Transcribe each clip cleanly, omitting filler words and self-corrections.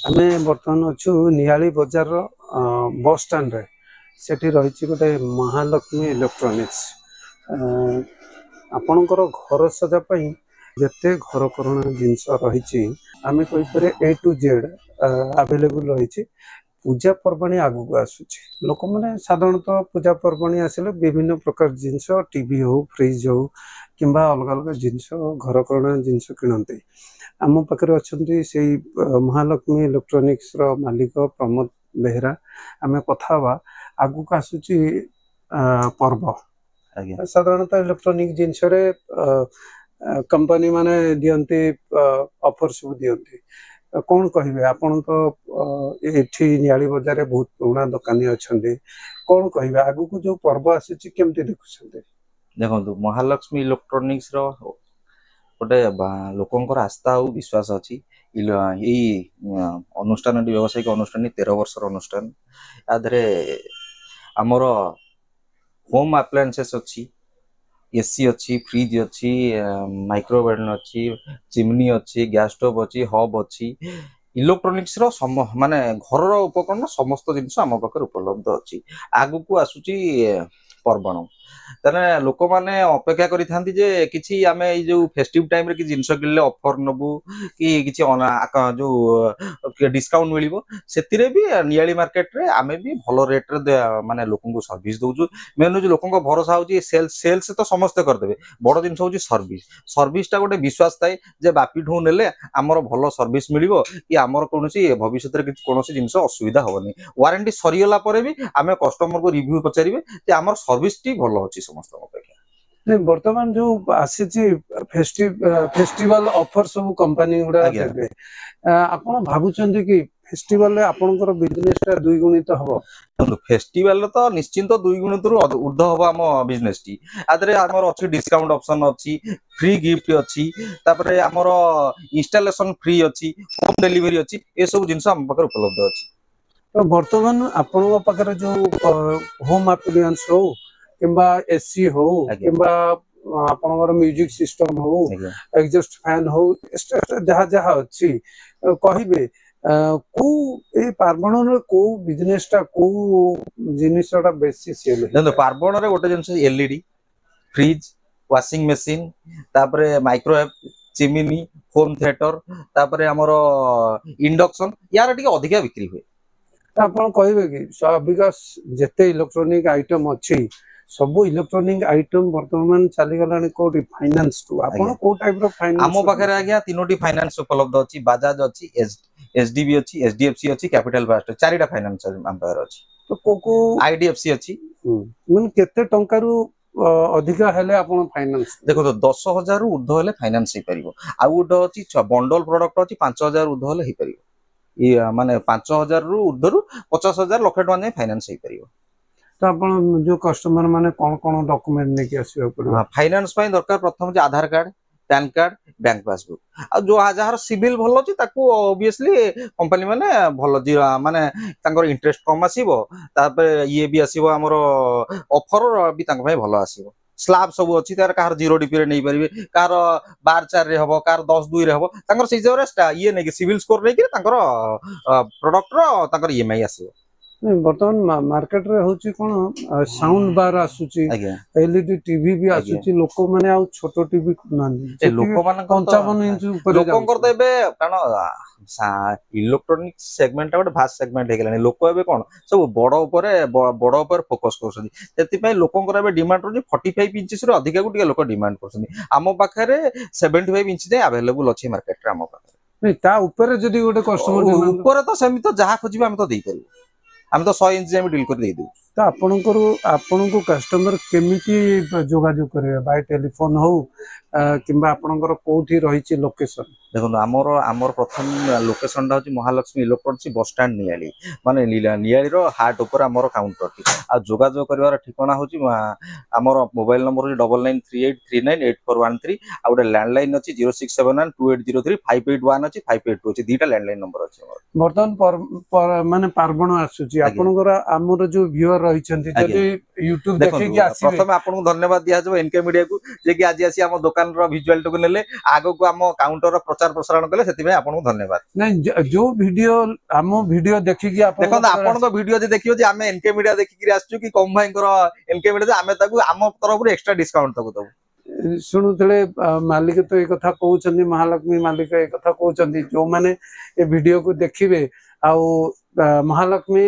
ଆମେ ବର୍ତ୍ତମାନ ଅଛୁ ନିଆଳି ବଜାରର ବସ୍ ଷ୍ଟାଣ୍ଡରେ। ସେଠି ରହିଛି ଗୋଟେ ମହାଲକ୍ଷ୍ମୀ ଇଲେକ୍ଟ୍ରୋନିକ୍ସ। ଆପଣଙ୍କର ଘର ସଜା ପାଇଁ ଯେତେ ଘରକରଣା ଜିନିଷ ରହିଛି, ଆମେ କହିପାରିବା ଏ ଟୁ ଜେଡ୍ ଆଭେଲେବୁଲ୍ ରହିଛି। ପୂଜା ପର୍ବାଣୀ ଆଗକୁ ଆସୁଛି। ଲୋକମାନେ ସାଧାରଣତଃ ପୂଜା ପର୍ବାଣୀ ଆସିଲେ ବିଭିନ୍ନ ପ୍ରକାର ଜିନିଷ, ଟିଭି ହଉ, ଫ୍ରିଜ୍ ହଉ କିମ୍ବା ଅଲଗା ଅଲଗା ଜିନିଷ, ଘରକରଣା ଜିନିଷ କିଣନ୍ତି। ଆମ ପାଖରେ ଅଛନ୍ତି ସେଇ ମହାଲକ୍ଷ୍ମୀ ଇଲେକ୍ଟ୍ରୋନିକ୍ସର ମାଲିକ ପ୍ରମୋଦ ବେହେରା। ଆମେ କଥା ହେବା। ଆଗକୁ ଆସୁଛି ପର୍ବ। ସାଧାରଣତଃ ଇଲେକ୍ଟ୍ରୋନିକ ଜିନିଷରେ କମ୍ପାନୀ ମାନେ ଦିଅନ୍ତି, ଅଫର ସବୁ ଦିଅନ୍ତି। କଣ କହିବେ? ଆପଣ ତ ଏଠି ନିଆଳି ବଜାରରେ ବହୁତ ପୁରୁଣା ଦୋକାନୀ ଅଛନ୍ତି। କଣ କହିବେ, ଆଗକୁ ଯୋଉ ପର୍ବ ଆସୁଛି କେମିତି ଦେଖୁଛନ୍ତି? ଦେଖନ୍ତୁ, ମହାଲକ୍ଷ୍ମୀ ଇଲେକ୍ଟ୍ରୋନିକ୍ସ ର ଗୋଟେ ଲୋକଙ୍କର ଆସ୍ଥା ଆଉ ବିଶ୍ୱାସ ଅଛି। ଏଇ ଅନୁଷ୍ଠାନଟି, ବ୍ୟବସାୟିକ ଅନୁଷ୍ଠାନଟି 13 ବର୍ଷର ଅନୁଷ୍ଠାନ। ୟା ଦେହରେ ଆମର ହୋମ୍ ଆପ୍ଲାଏନ୍ସେସ୍ ଅଛି, ଏସି ଅଛି, ଫ୍ରିଜ୍ ଅଛି, ମାଇକ୍ରୋୱେଭ୍ ଅଛି, ଚିମ୍ନି ଅଛି, ଗ୍ୟାସ୍ ଷ୍ଟୋଭ୍ ଅଛି, ହବ୍ ଅଛି। ଇଲେକ୍ଟ୍ରୋନିକ୍ସର ମାନେ ଘରର ଉପକରଣ ସମସ୍ତ ଜିନିଷ ଆମ ପାଖରେ ଉପଲବ୍ଧ ଅଛି। ଆଗକୁ ଆସୁଛି ପର୍ବଣ, ତାହେଲେ ଲୋକମାନେ ଅପେକ୍ଷା କରିଥାନ୍ତି ଯେ କିଛି ଆମେ ଏଇ ଯୋଉ ଫେଷ୍ଟିଭ ଟାଇମରେ କିଛି ଜିନିଷ କିଣିଲେ ଅଫର ନବୁ କି କିଛି ଯୋଉ ଡିସକାଉଣ୍ଟ ମିଳିବ। ସେଥିରେ ବି ନିଆଳି ମାର୍କେଟରେ ଆମେ ବି ଭଲ ରେଟରେ ମାନେ ଲୋକଙ୍କୁ ସର୍ଭିସ ଦଉଛୁ। ମେନ୍ ହଉଛି ଲୋକଙ୍କ ଭରସା ହଉଛି ସେଲ୍ସ। ସେଲ୍ସ ତ ସମସ୍ତେ କରିଦେବେ, ବଡ ଜିନିଷ ହଉଛି ସର୍ଭିସ। ସର୍ଭିସଟା ଗୋଟେ ବିଶ୍ୱାସ ଥାଏ ଯେ ବାପିଠୁ ନେଲେ ଆମର ଭଲ ସର୍ଭିସ ମିଳିବ କି ଆମର କୌଣସି ଭବିଷ୍ୟତରେ କିଛି କୌଣସି ଜିନିଷ ଅସୁବିଧା ହବନି। ୱାରେଣ୍ଟି ସରିଗଲା ପରେ ବି ଆମେ କଷ୍ଟମରକୁ ରିଭ୍ୟୁ ପଚାରିବେ ଯେ ଆମର ସର୍ଭିସଟି ଭଲ ଅଛି ସମସ୍ତଙ୍କ ଅପେକ୍ଷା। ନାଇଁ, ବର୍ତ୍ତମାନ ଯୋଉ ଆସିଛି ଫେଷ୍ଟିଭାଲ ଅଫର ସବୁ କମ୍ପାନୀ ଗୁଡା ଦେବେ, ଆପଣ ଭାବୁଛନ୍ତି କି ଫେଷ୍ଟିଭାଲରେ ଆପଣଙ୍କର ବିଜନେସ ଟା ଦ୍ୱିଗୁଣିତ ହବ? ଦେଖନ୍ତୁ, ଫେଷ୍ଟିଭାଲରେ ତ ନିଶ୍ଚିନ୍ତ ଦୁଇ ଗୁଣିତରୁ ଉର୍ଦ୍ଧ୍ୱ ହବ ଆମ ବିଜନେସଟି। ଆ ଦେହରେ ଆମର ଅଛି ଡିସକାଉଣ୍ଟ ଅପସନ ଅଛି, ଫ୍ରି ଗିଫ୍ଟ ଅଛି, ତାପରେ ଆମର ଇନଷ୍ଟାଲେସନ ଫ୍ରି ଅଛି, ହୋମ ଡେଲିଭରି ଅଛି। ଏସବୁ ଜିନିଷ ଆମ ପାଖରେ ଉପଲବ୍ଧ ଅଛି। ତ ବର୍ତ୍ତମାନ ଆପଣଙ୍କ ପାଖରେ ଯୋଉ ହୋମ ଆପ୍ଲାଏନ୍ସ ହଉ କିମ୍ବା ଏସି ହଉ କିମ୍ବା ଆପଣଙ୍କର ମ୍ୟୁଜିକ ସିଷ୍ଟମ ହଉ, ଏକ୍ଜଷ୍ଟ ଫ୍ୟାନ ହଉ, ଏକ୍ସଟ୍ରା ଯାହା ଯାହା ଅଛି କହିବେ, କୋଉ ଏଇ ପାର୍ବଣରେ କୋଉ ବିଜନେସ ଟା, କୋଉ ଜିନିଷଟା ବେଶୀ ସେଲ୍? ଦେଖନ୍ତୁ, ପାର୍ବଣରେ ଗୋଟେ ଜିନିଷ ଏଲଇଡି, ଫ୍ରିଜ, ୱାସିଂ ମେସିନ, ତାପରେ ମାଇକ୍ରୋୱେଭ, ଚିମିନି, ହୋମ ଥିଏଟର, ତାପରେ ଆମର ଇଣ୍ଡକ୍ସନ, ୟାର ଟିକେ ଅଧିକା ବିକ୍ରି ହୁଏ। ତ ଆପଣ କହିବେ କି ଅବିକା ଯେତେ ଇଲେକ୍ଟ୍ରୋନିକ ଆଇଟମ ଅଛି, ସବୁ ଇଲେକ୍ଟ୍ରୋନିକ ଆଇଟମ ବର୍ତ୍ତମାନ ଚାଲିଗଲାଣି କୋଉଠି? ଫାଇନାନ୍ସ କୁ। ଆପଣ କୋଉ ଟାଇପ ର ଫାଇନାନ୍ସ? ଆମ ପାଖରେ ଆଜ୍ଞା ତିନୋଟି ଫାଇନାନ୍ସ ଉପଲବ୍ଧ ଅଛି। ବାଜାଜ ଅଛି, ଏଚଡିବି ଅଛି, ଏଚଡିଏଫସି ଅଛି, କ୍ୟାପିଟାଲ ଫାଷ୍ଟ, ଚାରିଟା ଫାଇନାନ୍ସ ଆମ ପାଖରେ ଅଛି। ତ କୋଉ କୋଉ? ଆଇଡିଏଫସି ଅଛି। ମାନେ କେତେ ଟଙ୍କାରୁ ଅଧିକା ହେଲେ ଆପଣ ଫାଇନାନ୍ସ? ଦେଖନ୍ତୁ, 10,000ରୁ ଉର୍ଦ୍ଧ୍ୱ ହେଲେ ଫାଇନାନ୍ସ ହେଇପାରିବ। ଆଉ ଗୋଟେ ଅଛି ବଣ୍ଡଲ ପ୍ରଡକ୍ଟ ଅଛି, 5,000 ଉର୍ଦ୍ଧ୍ୱ ହେଲେ ହେଇପାରିବ। ଇଏ ମାନେ 5,000ରୁ ଉର୍ଦ୍ଧ୍ୱରୁ 50,000, ଲକ୍ଷେ ଟଙ୍କା ଯାଏଁ ଫାଇନାନ୍ସ ହେଇପାରିବ। ତ ଆପଣ ଯୋଉ କଷ୍ଟମର ମାନେ କଣ କଣ ଡକୁମେଣ୍ଟ ନେଇକି ଆସିବାକୁ ପଡିବ? ଫାଇନାନ୍ସ ପାଇଁ ଦରକାର ପ୍ରଥମ ଯେ Aadhaar card, PAN card, bank passbook. ଆଉ ଯୋଉ ଯାହାର ସିବିଲ ଭଲ ଅଛି, ତାକୁ ଅବଭିୟସଲି କମ୍ପାନୀ ମାନେ ଭଲ ମାନେ ତାଙ୍କର ଇଣ୍ଟରେଷ୍ଟ କମ ଆସିବ। ତାପରେ ଇଏ ବି ଆସିବ, ଆମର ଅଫର ବି ତାଙ୍କ ପାଇଁ ଭଲ ଆସିବ। ସ୍ଲାବ ସବୁ ଅଛି ତାର, କାହାର 0 ଡିପିରେ ନେଇପାରିବେ, କାହାର 12-4ରେ ହବ, କାହାର 10-2ରେ ହବ। ତାଙ୍କର ସେଇ ହିସାବରେ ଇଏ ନେଇକି, ସିବିଲ ସ୍କୋର ନେଇକି ତାଙ୍କର ପ୍ରଡକ୍ଟର ତାଙ୍କର ଇଏମଆଇ ଆସିବ। ନାଇଁ, ବର୍ତ୍ତମାନ ମାର୍କେଟରେ ହଉଛି କଣ, ସାଉଣ୍ଡ ବାର ଆସୁଛି, ଏଲଇଡି ଟିଭି ବି ଆସୁଛି। ଲୋକମାନେ ଆଉ ଛୋଟ ଟିଭି କିଣୁନାହାନ୍ତି। ଏ ଲୋକମାନଙ୍କର 55 ଇଞ୍ଚ ଉପରେ ଲୋକଙ୍କର ତ ଯାଉଛି। ଏବେ କାରଣ ଇଲେକ୍ଟ୍ରୋନିକ ସେଗମେଣ୍ଟଟା ଗୋଟେ ଭାଷ୍ଟ ସେଗମେଣ୍ଟ ହେଇଗଲାଣି। ଲୋକ ଏବେ କଣ ସବୁ ବଡ ଉପରେ ଫୋକସ କରୁଛନ୍ତି। ସେଥିପାଇଁ ଲୋକଙ୍କର ଏବେ ଡିମାଣ୍ଡ ରହୁଛି 45 ଇଞ୍ଚେସରୁ ଅଧିକାକୁ ଟିକେ ଲୋକ ଡିମାଣ୍ଡ କରୁଛନ୍ତି। ଆମ ପାଖରେ 75 ଇଞ୍ଚ ଯାଏଁ ଆଭେଲେବୁଲ ଅଛି ମାର୍କେଟରେ ଆମ ପାଖରେ। ନାଇଁ, ତା ଉପରେ ଯଦି ଗୋଟେ କଷ୍ଟମର ଉପରେ ତ ସେମିତି ତ ଯାହା ଖୋଜିବେ ଆମେ ତ ଦେଇପାରିବୁ। ଆମେ ତ 100 ଇଞ୍ଚ ଯାଏଁ ବି ଡିଲ୍ କରି ଦେଇଦେବୁ। ତ ଆପଣଙ୍କୁ କଷ୍ଟମର କେମିତି ଯୋଗାଯୋଗ କରିବେ? ବାଇ ଟେଲିଫୋନ ହଉ କିମ୍ବା ଆପଣଙ୍କର କୋଉଠି ରହିଛି ଲୋକେସନ? ଦେଖନ୍ତୁ, ଆମର ପ୍ରଥମ ଲୋକେସନଟା ହଉଛି ମହାଲକ୍ଷ୍ମୀ ଇଲେକ୍ଟ୍ରୋନିକ୍ସ, ବସଷ୍ଟାଣ୍ଡ, ନିଆଳି, ମାନେ ନିଆଳିର ହାର୍ଟ ଉପରେ ଆମର କାଉଣ୍ଟରଟି। ଆଉ ଯୋଗାଯୋଗ କରିବାର ଠିକଣା ହଉଛି ଆମର ମୋବାଇଲ ନମ୍ବର ହଉଛି 9938398413। ଆଉ ଗୋଟେ ଲ୍ୟାଣ୍ଡଲାଇନ ଅଛି 06712803581 ଅଛି, 582 ଅଛି, ଦିଟା ଲ୍ୟାଣ୍ଡଲାଇନ ନମ୍ବର ଅଛି ଆମର। ବର୍ତ୍ତମାନ ମାନେ ପାର୍ବଣ ଆସୁଛି। ଆପଣଙ୍କର ଆମର ଯୋଉ ଭିଉଅର ରହିଛନ୍ତି, ଯଦି ୟୁଟ୍ୟୁବ ଦେଖନ୍ତୁ, ଦେଖିକି ଆସିବେ? ପ୍ରଥମେ ଆପଣଙ୍କୁ ଧନ୍ୟବାଦ ଦିଆଯିବ ଏନକେ ମିଡିଆକୁ, ଯେ କି ଆଜି ଆସି ଆମ ଦୋକାନର ଭିଜୁଆଲଟାକୁ ନେଲେ, ଆଗକୁ ଆମ କାଉଣ୍ଟରର ପ୍ରଚାର ପ୍ରସାରଣ କଲେ, ସେଥିପାଇଁ ଆପଣଙ୍କୁ ଧନ୍ୟବାଦ। ନାଇଁ, ଯୋଉ ଭିଡିଓ, ଆମ ଭିଡିଓ ଦେଖିକି ଆପଣ ଦେଖନ୍ତୁ, ଆପଣଙ୍କ ଭିଡିଓ ଯଦି ଦେଖିବ ଯେ ଆମେ ଏନକେ ମିଡିଆ ଦେଖିକିରି ଆସିଛୁ କି କମ ଭାଇଙ୍କର ଏନକେ ମିଡିଆ, ଆମେ ତାକୁ ଆମ ତରଫରୁ ଏକ୍ସଟ୍ରା ଡିସକାଉଣ୍ଟ ତାକୁ ଦବୁ। ଶୁଣୁଥିଲେ, ମାଲିକ ତ ଏ କଥା କହୁଛନ୍ତି, ମହାଲକ୍ଷ୍ମୀ ମାଲିକ ଏ କଥା କହୁଛନ୍ତି, ଯୋଉମାନେ ଏ ଭିଡିଓକୁ ଦେଖିବେ ଆଉ ମହାଲକ୍ଷ୍ମୀ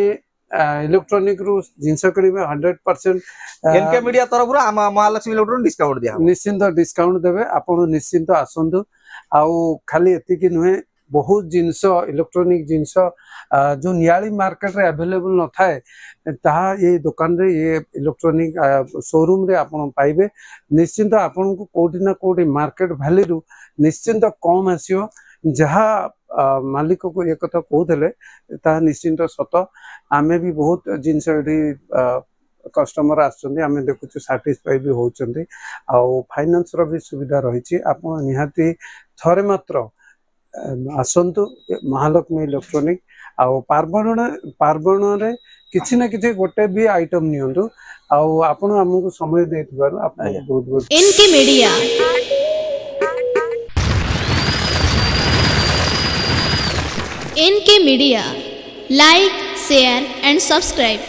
ଇଲେକ୍ଟ୍ରୋନିକ ରୁ ଜିନିଷ କିଣିବେ, 100% ଏନକେ ମିଡିଆ ତରଫରୁ ଆମ ମହାଲକ୍ଷ୍ମୀ ଇଲେକ୍ଟ୍ରୋନିକ ଡିସକାଉଣ୍ଟ ଦିଆହବ। ନିଶ୍ଚିନ୍ତ ଡିସକାଉଣ୍ଟ ଦେବେ। ଆପଣ ନିଶ୍ଚିନ୍ତ ଆସନ୍ତୁ। ଆଉ ଖାଲି ଏତିକି ନୁହେଁ, ବହୁତ ଜିନିଷ, ଇଲେକ୍ଟ୍ରୋନିକ ଜିନିଷ ଯୋଉ ନିଆଳି ମାର୍କେଟରେ ଆଭେଲେବୁଲ ନଥାଏ, ତାହା ଏ ଦୋକାନରେ, ଏ ଇଲେକ୍ଟ୍ରୋନିକ ସୋରୁମରେ ଆପଣ ପାଇବେ। ନିଶ୍ଚିନ୍ତ ଆପଣଙ୍କୁ କୋଉଠି ନା କୋଉଠି ମାର୍କେଟ ଭ୍ୟାଲ୍ୟୁରୁ ନିଶ୍ଚିନ୍ତ କମ ଆସିବ। ଯାହା ମାଲିକକୁ ଏ କଥା କହୁଥିଲେ, ତାହା ନିଶ୍ଚିନ୍ତ ସତ। ଆମେ ବି ବହୁତ ଜିନିଷ ଏଠି କଷ୍ଟମର ଆସୁଛନ୍ତି, ଆମେ ଦେଖୁଛୁ, ସାଟିସ୍ଫାଇ ବି ହେଉଛନ୍ତି। ଆଉ ଫାଇନାନ୍ସର ବି ସୁବିଧା ରହିଛି। ଆପଣ ନିହାତି ଥରେ ମାତ୍ର ଆସନ୍ତୁ ଏ ମହାଲକ୍ଷ୍ମୀ ଇଲେକ୍ଟ୍ରୋନିକ, ଆଉ ପାର୍ବଣରେ କିଛି ନା କିଛି ଗୋଟେ ବି ଆଇଟମ ନିଅନ୍ତୁ। ଆଉ ଆପଣ ଆମକୁ ସମୟ ଦେଇଥିବାରୁ ଆପଣଙ୍କୁ ବହୁତ ବହୁତ। NK Media. NK Media. Like, share and subscribe.